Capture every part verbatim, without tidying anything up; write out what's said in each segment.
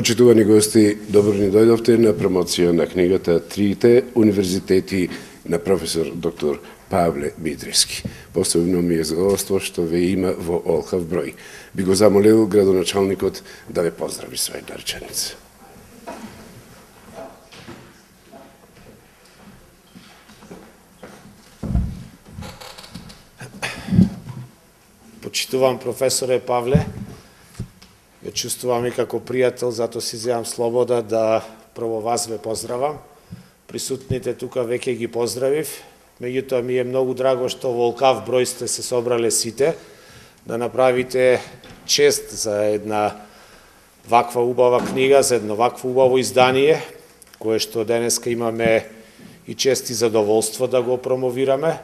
Почитувани гости, добро ни дојдовте на промоција на книгата Трите универзитети на професор доктор Павле Митрески. Посебно ми е задоволство што ве има во олхав број. Би го замолил градоначалникот да ве поздрави со една реченица. Почитувам професоре Павле, ја чувствувам и како пријател, затоа си земам слобода да прво вас ве поздравам. Присутните тука веќе ги поздравив, меѓутоа ми е многу драго што во олкав број сте се собрале сите, да направите чест за една ваква убава книга, за едно вакво убаво издание, кое што денеска имаме и чест и задоволство да го промовираме.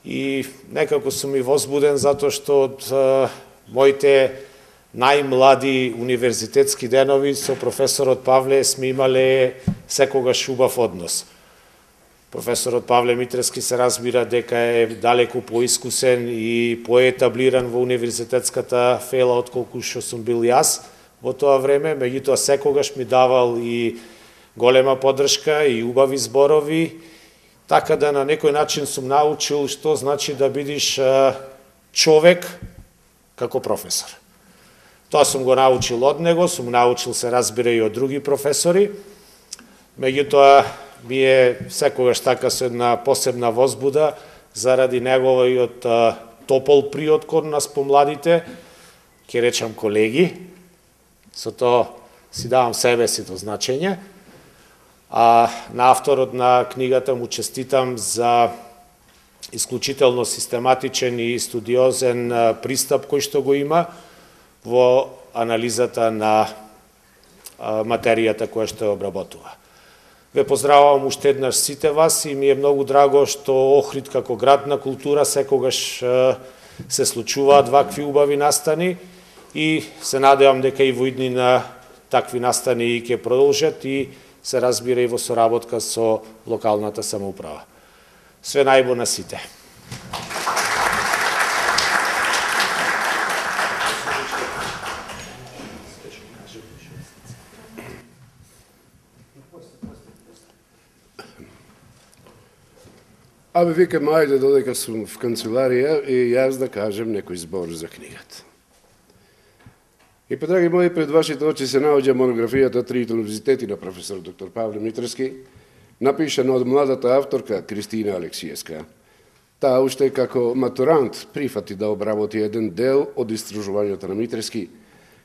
И некако сум и возбуден затоа што од а, моите најмлади универзитетски денови со професорот Павле сме имале секогаш убав однос. Професорот Павле Митрески се разбира дека е далеку поискусен и поетаблиран во универзитетската фела отколку што сум бил јас во тоа време, меѓутоа секогаш ми давал и голема поддршка и убави зборови, така да на некој начин сум научил што значи да бидиш човек како професор. Тоа сум го научил од него, сум научил се разбира и од други професори, меѓутоа ми е секогаш така со една посебна возбуда заради неговиот топол приод кон нас помладите, ќе речам колеги, со тоа си давам себе си до значење. А на авторот на книгата му честитам за исклучително систематичен и студиозен пристап кој што го има во анализата на материјата која што ја обработува. Ве поздравувам уште еднаш сите вас и ми е многу драго што Охрид како град на култура секогаш се случуваат вакви убави настани и се надевам дека и во иднина такви настани и ќе продолжат и се разбира и во соработка со локалната самоуправа. Све најбо на сите. Абе, викам, ајде додека сум в канцеларија и јас да кажем некој збор за книгата. И па, драги мои, пред вашите очи се наоѓа монографијата Трите универзитети на професор доктор Павле Митрески, напишана од младата авторка Кристина Алексиевска. Таа уште како матурант прифати да обработи еден дел од истражувањето на Митрески,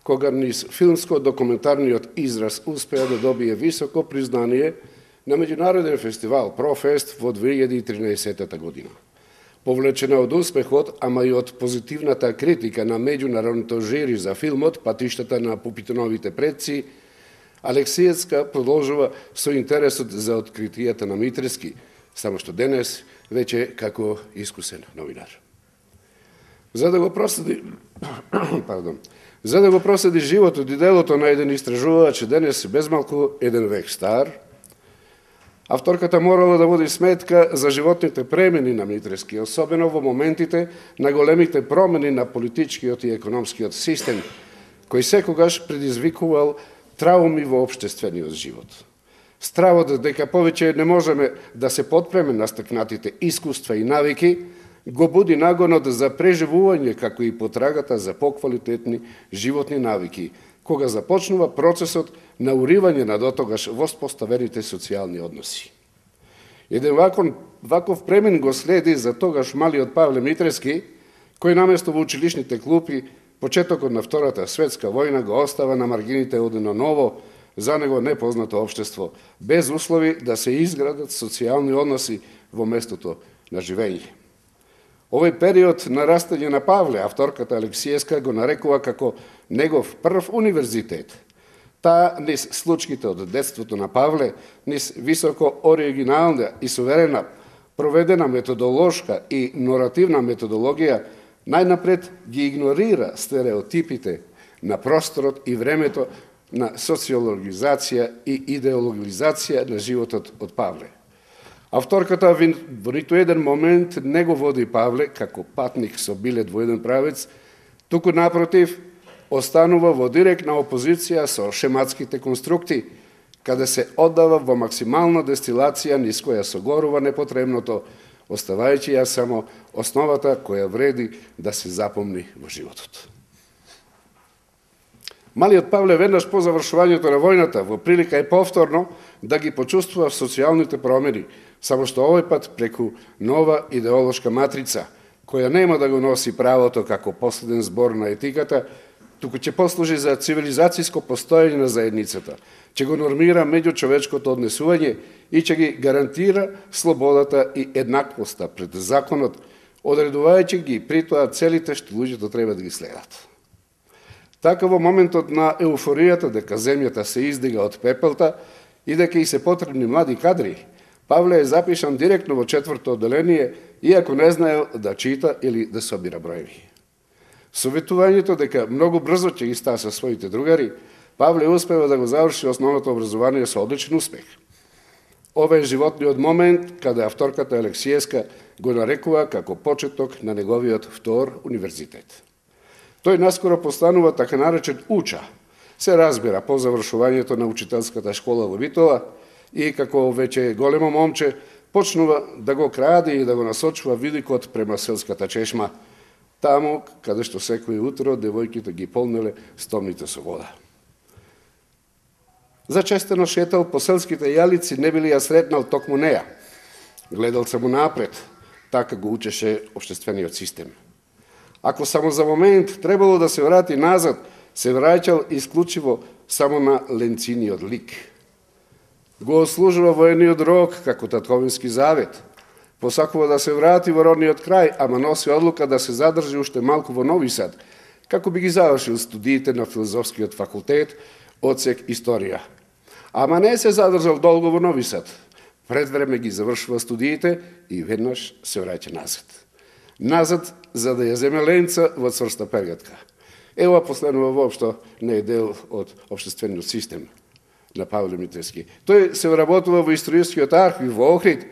кога низ филмско-документарниот израз успеа да добие високо признание на меѓународен фестивал Профест во две илјади и тринаесетта година. Повлечена од успехот, ама и од позитивната критика на меѓународното жири за филмот Патиштата на Пупитоновите предци, Алексиевска продолжува со интересот за откритијата на Митрески, само што денес веќе како искусен новинар. За да го проследи, пардон, за да го проследи животот и делото на еден истражувач денес безмалку еден век стар, авторката морала да води сметка за животните премени на Митрески, особено во моментите на големите промени на политичкиот и економскиот систем, кој секогаш предизвикувал трауми во општествениот живот. Стравот дека повеќе не можеме да се потпреме на стекнатите искуства и навики, го буди нагонот за преживување како и потрагата за поквалитетни животни навики, кога започнува процесот на уривање на дотогаш воспоставените социјални односи. Еден ваков, ваков премен го следи за тогаш малиот Павле Митрески, кој наместо во училишните клупи, почетокот на Втората светска војна го остава на маргините од едно ново, за него непознато општество, без услови да се изградат социјални односи во местото на живење. Овој период на растање на Павле, авторката Алексиевска го нарекува како негов прв универзитет. Таа низ случките од детството на Павле, низ високо оригинална и суверена проведена методолошка и наративна методологија, најнапред ги игнорира стереотипите на просторот и времето на социологизација и идеологизација на животот од Павле. Авторката во ниту еден момент не го води Павле како патник со билет во еден правец, туку напротив, останува во директна опозиција со шематските конструкти, каде се оддава во максимална дестилација низ која согорува непотребното, оставајќи ја само основата која вреди да се запомни во животот. Малиот Павле веднаш по завршувањето на војната во прилика е повторно да ги почувствува социјалните промени, само што овој пат преку нова идеолошка матрица, која нема да го носи правото како последен збор на етиката, туку ќе послужи за цивилизацијско постоење на заедницата, ќе го нормира меѓучовечкото однесување и ќе ги гарантира слободата и еднаквоста пред законот, одредувајќи ги при тоа целите што луѓето треба да ги следат. Така во моментот на еуфоријата дека земјата се издига од пепелта и дека и се потребни млади кадри, Павле е запишан директно во четврто одделение, иако не знаел да чита или да собира броеви. Советувањето дека многу брзо ќе ги стаса своите другари, Павле успева да го заврши основното образование со одличен успех. Ова е животниот момент каде авторката Алексиевска го нарекува како почеток на неговиот втор универзитет. Тој наскоро постанува така наречен уча, се разбира по завршувањето на учителската школа во Битола и како веќе големо момче почнува да го краде и да го насочува видикот према селската чешма, таму каде што секој утро девојките ги полнеле стомните со вода. Зачестено шетал по селските јалици, не били ја сретнал токму неа. Гледал само напред, така го учеше општествениот систем. Ако само за момент требало да се врати назад, се враќал исклучиво само на ленциниот лик. Го ослужува воениот рок како татковински завет. Посакува да се врати во родниот крај, ама носи одлука да се задржи уште малку во Нови Сад, како би ги завршил студиите на филозофскиот факултет, одсек историја. Ама не се задржал долго во Нови Сад. Пред време ги завршува студиите и веднаш се враќа назад. Назад за да ја земе ленца во цврста пергатка. Ева последнова воопшто не е дел од општествениот систем на Павле Митревски. Тој се вработува во историјскиот архив во Охрид,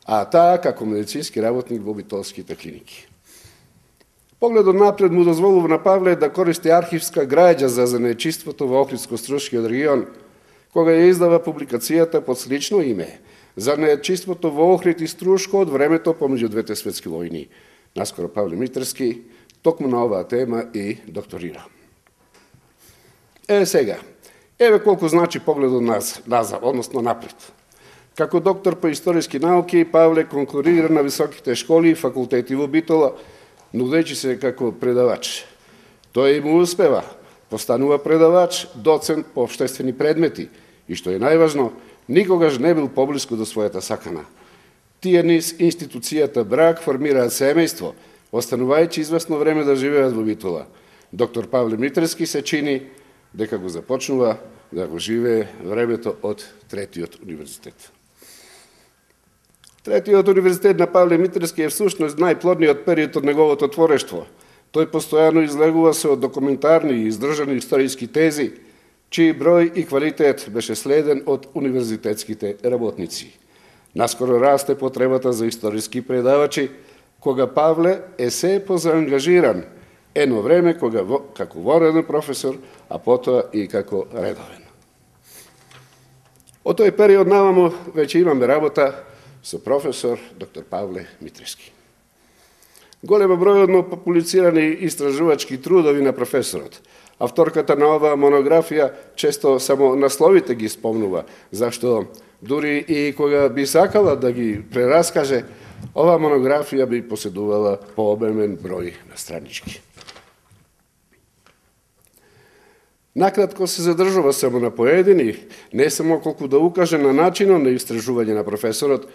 а таа како медицински работник во битолските клиники. Погледот напред му дозволува на Павле да користи архивска граѓа за занаетчиството во Охридско-Струшкиот регион, кога ја издава публикацијата под слично име Занаетчиството во Охрид и Струшко од времето помеѓу двете светски војни. Наскоро Павле Митревски токму на оваа тема и докторира. Е, сега, еве колку значи погледот назад, односно напред. Како доктор по историски науки, Павле конкурира на високите школи и факултети во Битола, нудејќи се како предавач. Тој му успева, постанува предавач, доцент по општествени предмети и, што е најважно, никогаш не бил поблиску до својата сакана. Тие низ институцијата брак формираат семејство, останувајќи известно време да живеат во Битола. Доктор Павле Митревски се чини дека го започнува да го живее времето од третиот универзитет. Третиот универзитет на Павле Митревски е всушност најплодниот период од неговото творештво. Тој постојано излегува се од документарни и издржани историски тези, чиј број и квалитет беше следен од универзитетските работници. Наскоро расте потребата за историски предавачи, кога Павле е се позаангажиран, едно време кога во, како вореден професор, а потоа и како редовен. Од тој период навамо веќе имаме работа со професор доктор Павле Митревски. Голема бројодно публицирани истражувачки трудови на професорот. Авторката на оваа монографија често само насловите ги спомнува, зашто дури и кога би сакала да ги прераскаже, оваа монографија би поседувала пообемен број на странички. Накратко се задржува само на поедини, не само колку да укаже на начинот на истражување на професорот,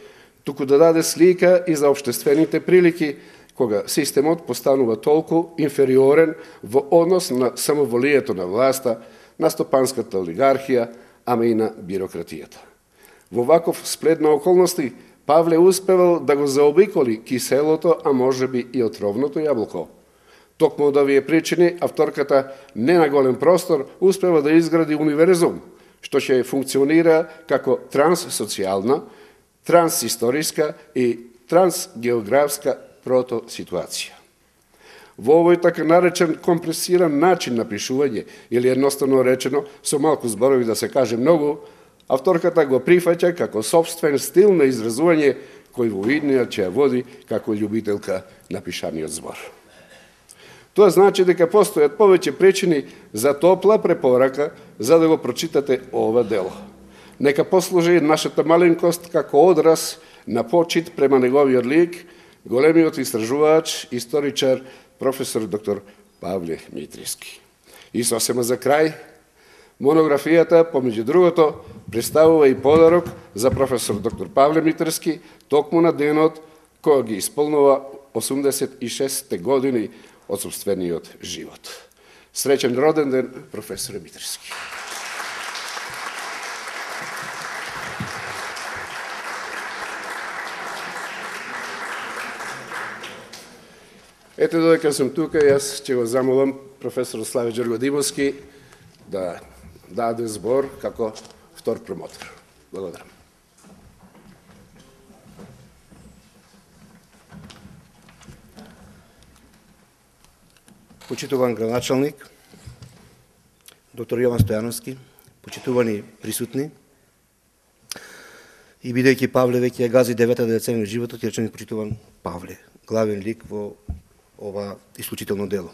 туку да даде слика и за општествените прилики, кога системот постанува толку инфериорен во однос на самоволието на власта, на стопанската олигархија, ама и на бирократијата. Во ваков сплет на околности, Павле успевал да го заобиколи киселото, а можеби и отровното јаблко. Токму од овие причини, авторката не на голем простор успева да изгради универзум, што ќе функционира како транссоцијална, трансисториска и трансгеографска протоситуација. Во овој така наречен компресиран начин на пишување, или едноставно речено, со малку зборови да се каже многу, авторката го прифаќа како собствен стил на изразување кој во иднија ќе ја води како љубителка на пишаниот збор. Тоа значи дека постојат повеќе причини за топла препорака за да го прочитате ова дело. Нека послужи нашата маленкост како одраз на почит према неговиот лик, големиот истражувач, историчар, професор доктор Павле Митриски. И сосема за крај, монографијата, помеѓу другото, представува и подарок за професор доктор Павле Митриски, токму на денот кој ги исполнува осумдесет и шесте години од сопствениот живот. Среќен роден ден, професоре Митриски. Ете, додека сум тука, јас ќе го замолам професор Славе Ѓоргодимовски да даде збор како втор промотор. Благодарам. Почитуван градоначалник, доктор Јован Стојановски, почитувани присутни, и бидејќи Павле веќе ја гази деветата деценија животот, ќе речем почитуван Павле, главен лик во ова исклучително дело.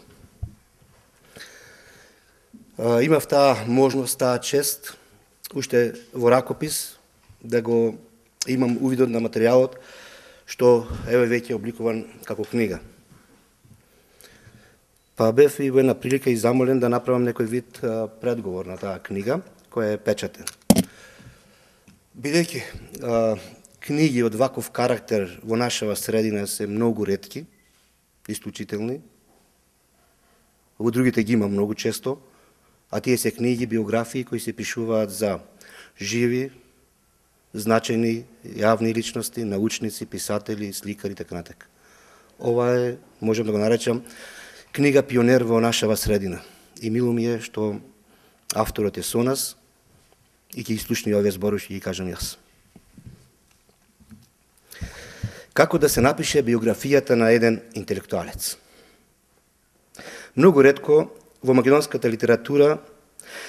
Имав таа можност, таа чест, уште во ракопис, да го имам увидот на материјалот, што еве веќе обликуван како книга. Па бев и во една прилика и замолен да направам некој вид предговор на таа книга, која е печатен. Бидејќи книги од ваков карактер во нашава средина се многу ретки, исклучителни, во другите ги има многу често, а тие се книги, биографии кои се пишуваат за живи, значајни јавни личности, научници, писатели, сликари, така натака. Ова е, можем да го наречам, книга пионер во нашава средина. И мило ми е што авторот е со нас и ќе изслушни овие зборови што ги кажам јас. Како да се напише биографијата на еден интелектуалец? Многу ретко во македонската литература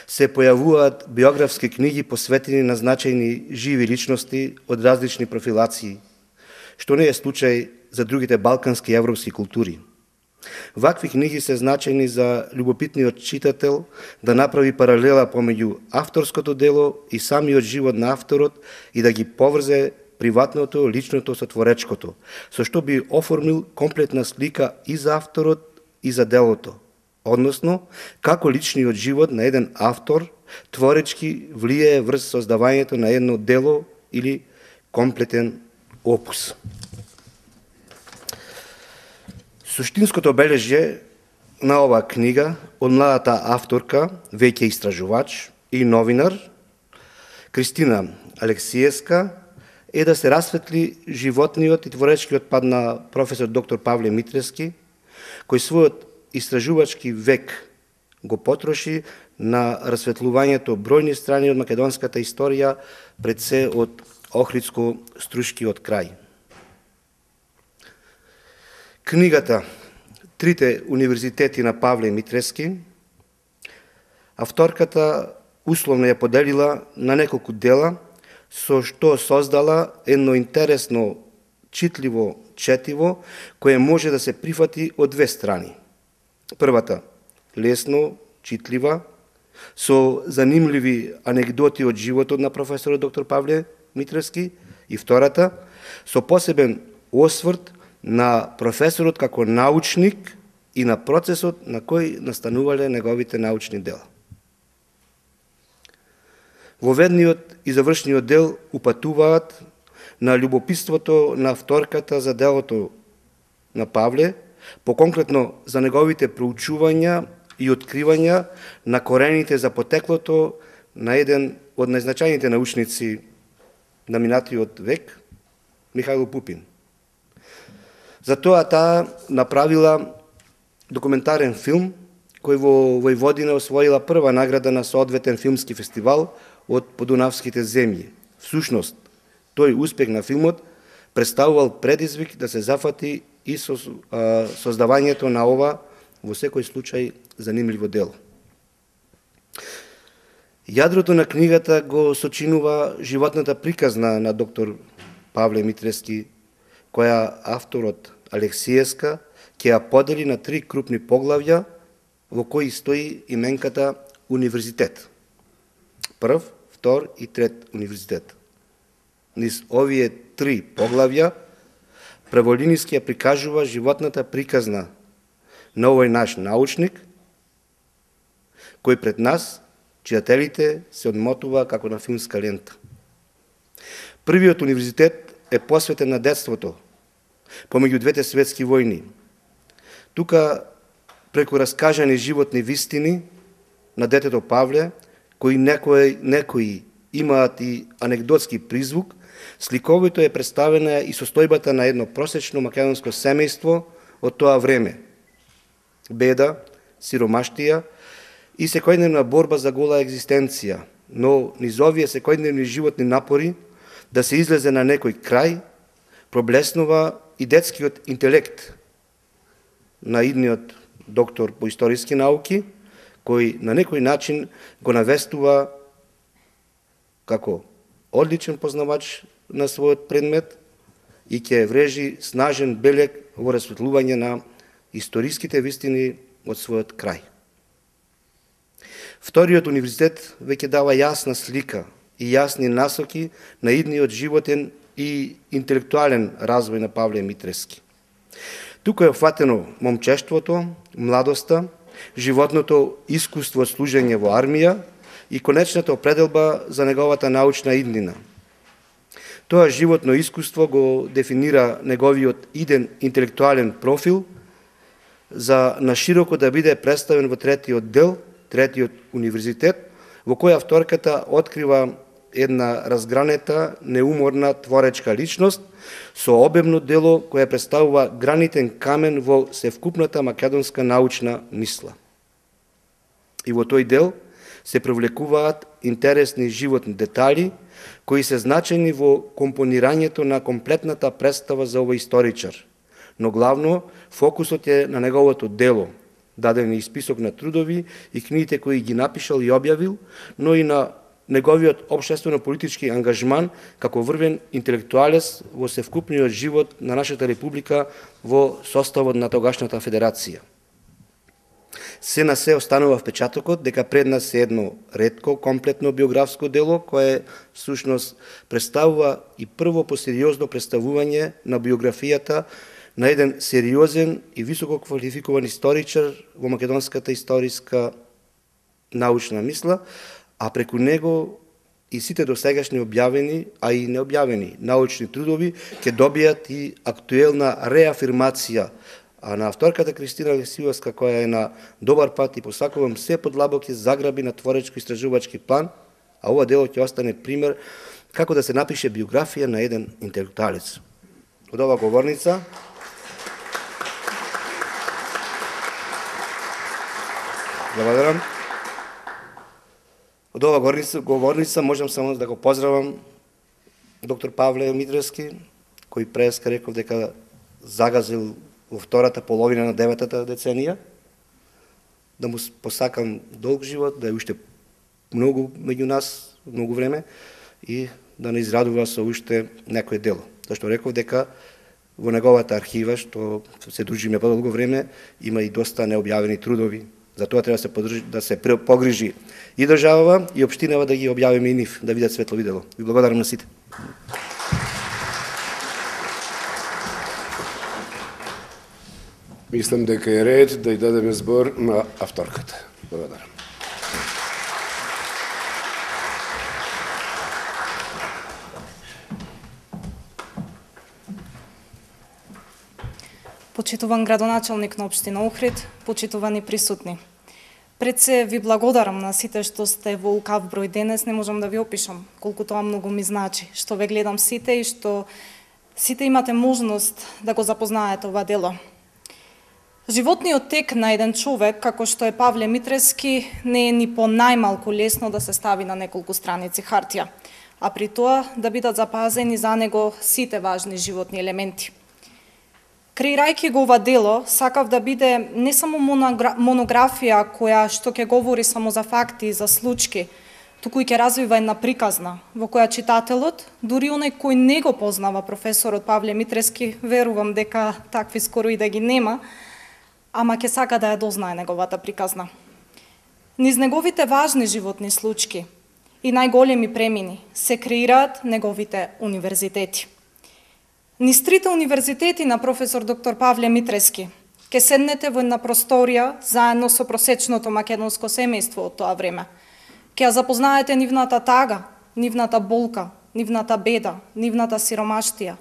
се појавуваат биографски книги посветени на значајни живи личности од различни профилации, што не е случај за другите балкански и европски култури. Вакви книги се значајни за љубопитниот читател да направи паралела помеѓу авторското дело и самиот живот на авторот и да ги поврзе приватното, личното со творечкото, со што би оформил комплетна слика и за авторот и за делото, односно како личниот живот на еден автор творечки влијае врз создавањето на едно дело или комплетен опус. Суштинското обележје на оваа книга од младата авторка, веќе истражувач и новинар, Кристина Алексиевска, е да се расветли животниот и творечкиот пат на професор доктор Павле Митриски, кој својот истражувачки век го потроши на расветлувањето бројни страни од македонската историја, пред се од Охридско-Струшкиот крај. Книгата «Трите универзитети на Павле Митриски» авторката условно ја поделила на неколку дела, со што создала едно интересно, читливо четиво, кое може да се прифати од две страни. Првата, лесно, читлива, со занимливи анегдоти од животот на професорот доктор Павле Митриски, и втората, со посебен осврт на професорот како научник и на процесот на кој настанувале неговите научни дела. Во ведниот и завршниот дел упатуваат на љубопитството на авторката за делото на Павле, поконкретно за неговите проучувања и откривања на корените за потеклото на еден од најзначајните научници на минатиот век, Михаил Пупин. Затоа таа направила документарен филм, кој во Војводина освоила прва награда на соодветен филмски фестивал од Подунавските земји. Всушност, тој успех на филмот представувал предизвик да се зафати и со а, создавањето на ова во секој случај занимливо дело. Јадрото на книгата го сочинува животната приказна на доктор Павле Митрески, која авторот Алексиевска ќе ја подели на три крупни поглавја во кои стои именката универзитет. Прв, втор и трет универзитет. Низ овие три поглавја Праволиниски ја прикажува животната приказна на овој наш научник, кој пред нас, читателите, се одмотува како на филмска лента. Првиот универзитет е посветен на детството, помеѓу двете светски војни. Тука, преку раскажани животни вистини на детето Павле, кои некои, некои имаат и анекдотски призвук, сликовито е представена и состојбата на едно просечно македонско семејство од тоа време. Беда, сиромаштија и секојдневна борба за гола екзистенција, но низ овие секојдневни животни напори да се излезе на некој крај, проблеснува и детскиот интелект на идниот доктор по историски науки, кој на некој начин го навестува како одличен познавач на својот предмет и ќе врежи снажен белег во расветлување на историските вистини од својот крај. Вториот универзитет веќе дава јасна слика и јасни насоки на идниот животен и интелектуален развој на Павле Митрески. Тука е опфатено момчештвото, младоста, животното искуство од служење во армија и конечната определба за неговата научна иднина. Тоа животно искуство го дефинира неговиот иден интелектуален профил за нашироко да биде представен во третиот дел, третиот универзитет, во која авторката открива една разгранета, неуморна творечка личност со обемно дело кое представува гранитен камен во севкупната македонска научна мисла. И во тој дел се привлекуваат интересни животни детали кои се значени во компонирањето на комплетната представа за овој историчар. Но главно фокусот е на неговото дело, даден и список на трудови и книгите кои ги напишал и објавил, но и на неговиот општествено-политички ангажман како врвен интелектуалец во севкупниот живот на нашата република во составот на тогашната федерација. Се на се останува впечатокот дека пред нас е едно ретко комплетно биографско дело кое всушност представува и прво посериозно представување на биографијата на еден сериозен и високо квалификуван историчар во македонската историска научна мисла, а преку него и сите досегашни објавени, а и необјавени научни трудови ќе добијат и актуелна реафирмација. А на авторката Кристина Алексиевска, која е на добар пат и посакувам се подлабоки заграби на творечко-истражувачки план, а ова дело ќе остане пример како да се напише биографија на еден интелектуалец. Од ова говорница Благодарам. Од ова говорница, говорница можам само да го поздравам доктор Павле Митрески, кој преска реков дека загазил во втората половина на деветата деценија, да му посакам долг живот, да е уште многу меѓу нас, многу време, и да не израдува со уште некој дело. Зашто реков дека во неговата архива, што се дружиме подолго време, има и доста необјавени трудови. Затоа треба да се, подржи, да се погрижи и државава, и општинава да ги објавиме и нив, да видат светло видело. Ви благодарам на сите. Мислам дека е ред да ја дадеме збор на авторката. Благодарам. Почитуван градоначалник на општина Охрид, почитувани присутни. Пред се ви благодарам на сите што сте во укав број денес, не можам да ви опишам колку тоа многу ми значи, што ве гледам сите и што сите имате можност да го запознаете ова дело. Животниот тек на еден човек, како што е Павле Митрески, не е ни по најмалку лесно да се стави на неколку страници хартија, а при тоа да бидат запазени за него сите важни животни елементи. Креирајќи го ова дело, сакав да биде не само монографија која што ќе говори само за факти и за случаи, туку и ќе развива една приказна, во која читателот, дури оној кој не го познава професорот Павле Митрески, верувам дека такви скоро и да ги нема, ама ќе сака да ја дознае неговата приказна. Низ неговите важни животни случаи и најголеми премини се креираат неговите универзитети. Низ трите универзитети на професор доктор Павле Митрески ќе седнете во една просторија заедно со просечното македонско семејство од тоа време. Ќе ја запознаете нивната тага, нивната болка, нивната беда, нивната сиромаштија,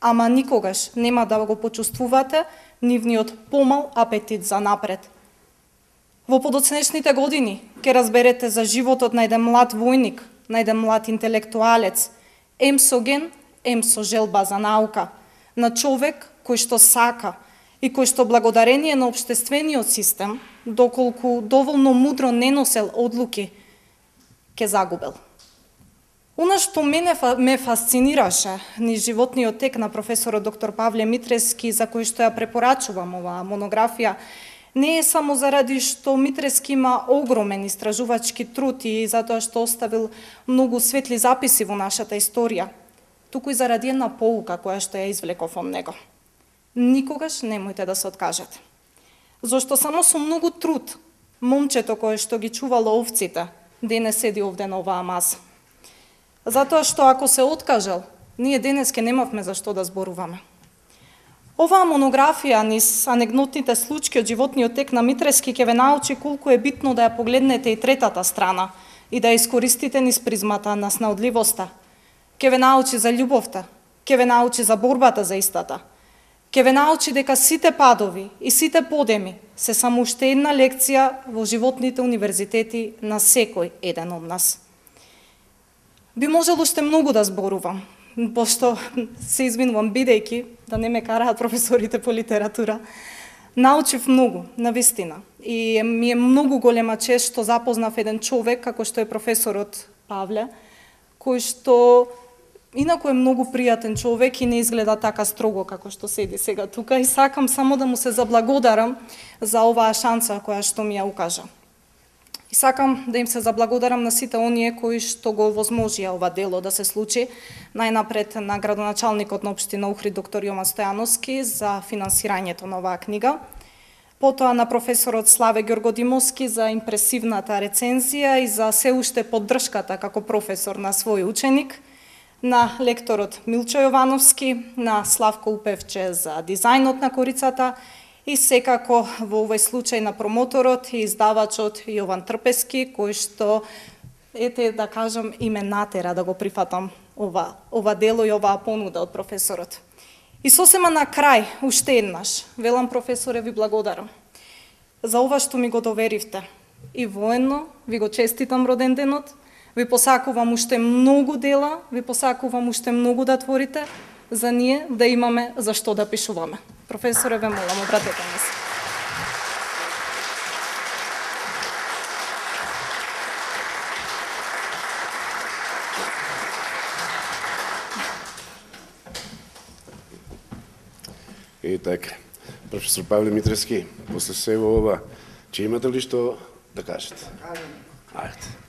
ама никогаш нема да го почувствувате нивниот помал апетит за напред. Во подоцнешните години ќе разберете за животот на еден млад војник, на еден млад интелектуалец, ем со ген, ем со желба за наука, на човек кој што сака и кој што благодарение на општествениот систем, доколку доволно мудро не носел одлуки, ќе загубел. Она што мене ме фасцинираше низ животниот тек на професорот доктор Павле Митрески, за кој што ја препорачувам оваа монографија, не е само заради што Митрески има огромен истражувачки труд и затоа што оставил многу светли записи во нашата историја, туку и заради една поука која што ја извлеков од него. Никогаш немојте да се откажете. Зошто само со многу труд момчето кое што ги чувало овците денес седи овде на оваа маса. Затоа што ако се откажал, ние денес ке немавме за што да зборуваме. Оваа монографија низ анегдотните случаи од животниот тек на Митрески ќе ве научи колку е битно да ја погледнете и третата страна и да ја искористите низ призмата на снаодливоста. Ќе ве научи за љубовта, ќе ве научи за борбата за истата. Ќе ве научи дека сите падови и сите подеми се само уште една лекција во животните универзитети на секој еден од нас. Би можел уште многу да зборувам, пошто се извинувам бидејќи да не ме караат професорите по литература. Научив многу, навистина. И ми е многу голема чест што запознав еден човек како што е професорот Павле, кој што инаку е многу пријатен човек и не изгледа така строго како што седи сега тука, и сакам само да му се заблагодарам за оваа шанса која што ми ја укажа. И сакам да им се заблагодарам на сите оние кои што го овозможија ова дело да се случи, најнапред на градоначалникот на општина Охрид доктор Јован Стојановски за финансирањето на оваа книга, потоа на професорот Славе Ѓоргодимовски за импресивната рецензија и за се уште поддршката како професор на свој ученик, на лекторот Милчо Јовановски, на Славко Упевче за дизајнот на корицата и секако во овој случај на промоторот и издавачот Јован Трпески, кој што, ете да кажам, и ме натера да го прифатам ова, ова дело и оваа понуда од професорот. И сосема на крај, уште еднаш, велам професоре, ви благодарам за ова што ми го доверивте. И военно ви го честитам роден денот, ви посакувам уште многу дела, ви посакувам уште многу да творите, за ние да имаме за што да пишуваме. Професоре, ве молам, обратете ми се. И така, професор Павле Митрески, после сево ова, че имате ли што да кажете? Ајде.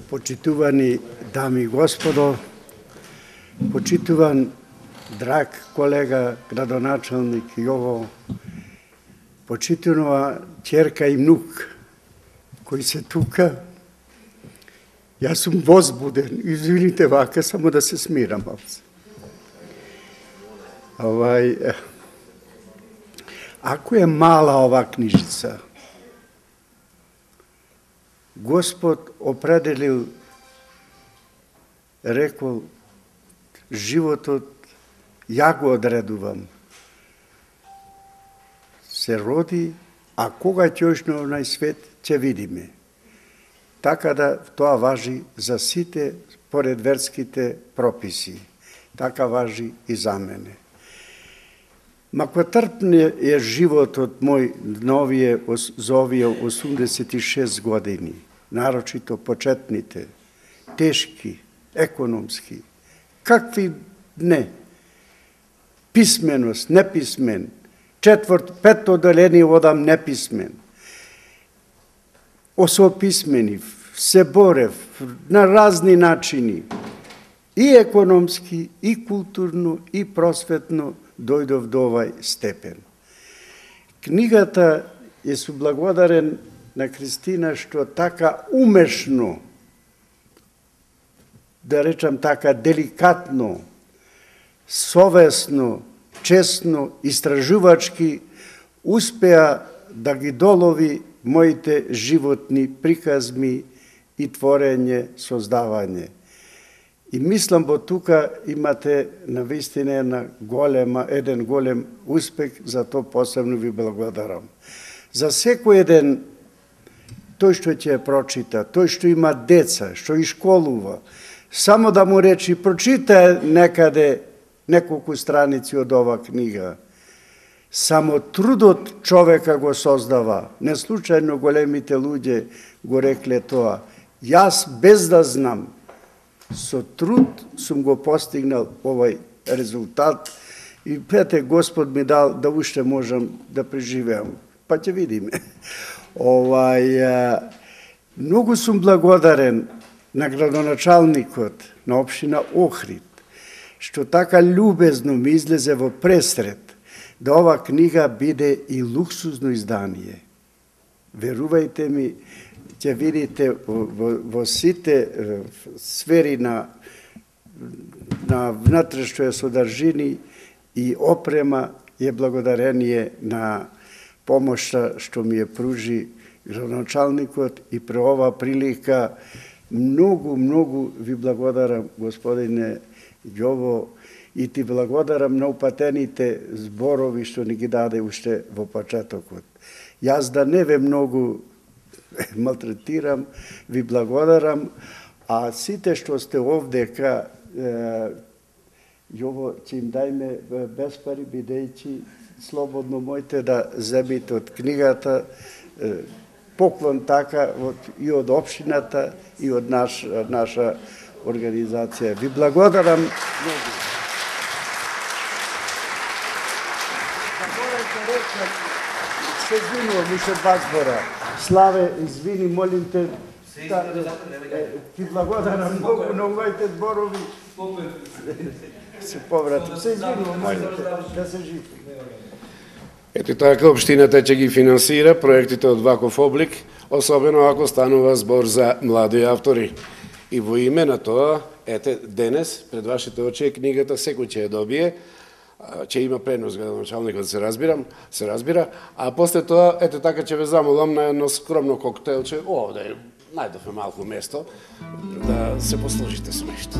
Почитувани дами и господо, почитуван драг колега, градоначалник Јово, почитувана ќерка и внук кои се тука, јас сум возбуден, извините вака, само да се смирам малце. Овај, ако е мала ова книжица, Господ определил, рекол, животот ја го одредувам. Се роди, а кога ќе ош на овој свет, ќе видиме. Така да тоа важи за сите поред верските прописи. Така важи и за мене. Мако трпне е животот мој новие, за овие осумдесет и шест години, нарочито почетните, тешки, економски, какви не. Писменост, неписмен. Четврт, пето оделение одам неписмен. Осописменив, се борев на разни начини. И економски, и културно, и просветно дојдов до овај степен. Книгата е соблагодарен на Кристина што така умешно, да речам така деликатно, совесно, честно, истражувачки успеа да ги долови моите животни приказми и творење, создавање. И мислам, бо тука имате навистина една голема, еден голем успех, за тоа посебно ви благодарам. За секој еден, тој што ќе ја прочита, тој што има деца, што и школува, само да му речи, прочита некаде неколку страници од ова книга. Само трудот човека го создава. Не случајно големите луѓе го рекле тоа. Јас без да знам, со труд сум го постигнал овај резултат и пете Господ ми дал да уште можам да преживеам. Па ќе видиме. Овај, многу сум благодарен на градоначалникот на општина Охрид, што така љубезно ми излезе во пресред да ова книга биде и луксузно издание. Верувајте ми, ќе видите во, во сите сфери на, на внатрешно содржини и опрема е благодарение на помошта што ми ја пружи градоначалникот и при ова прилика многу, многу ви благодарам, господине Ѓово, и ти благодарам на упатените зборови што ни ги даде уште во почетокот. Јас да не ве многу малтретирам, ви благодарам, а сите што сте овдека, Јово, ќе им дајме без пари, бидејќи слободно мојте да земите од книгата, поклон така и од општината и од наш, наша организација. Ви благодарам многу. Се извинувам, уште два збора. Славе, извини, молим те, ти благодарам многу на овајте зборови. Се повратам. Се извинувам, молим те, да се живи. Ето така, општината ќе ги финансира проектите од ваков облик, особено ако станува збор за млади автори. И во име на тоа, ете, денес, пред вашите очи е книгата, секој ќе ја добие, ќе има пренос градоначалникот, се разбирам, се разбира, а после тоа, ете така ќе ве замолам на едно скромно коктелче, овде најдовме малку место, да се послужите со нешто.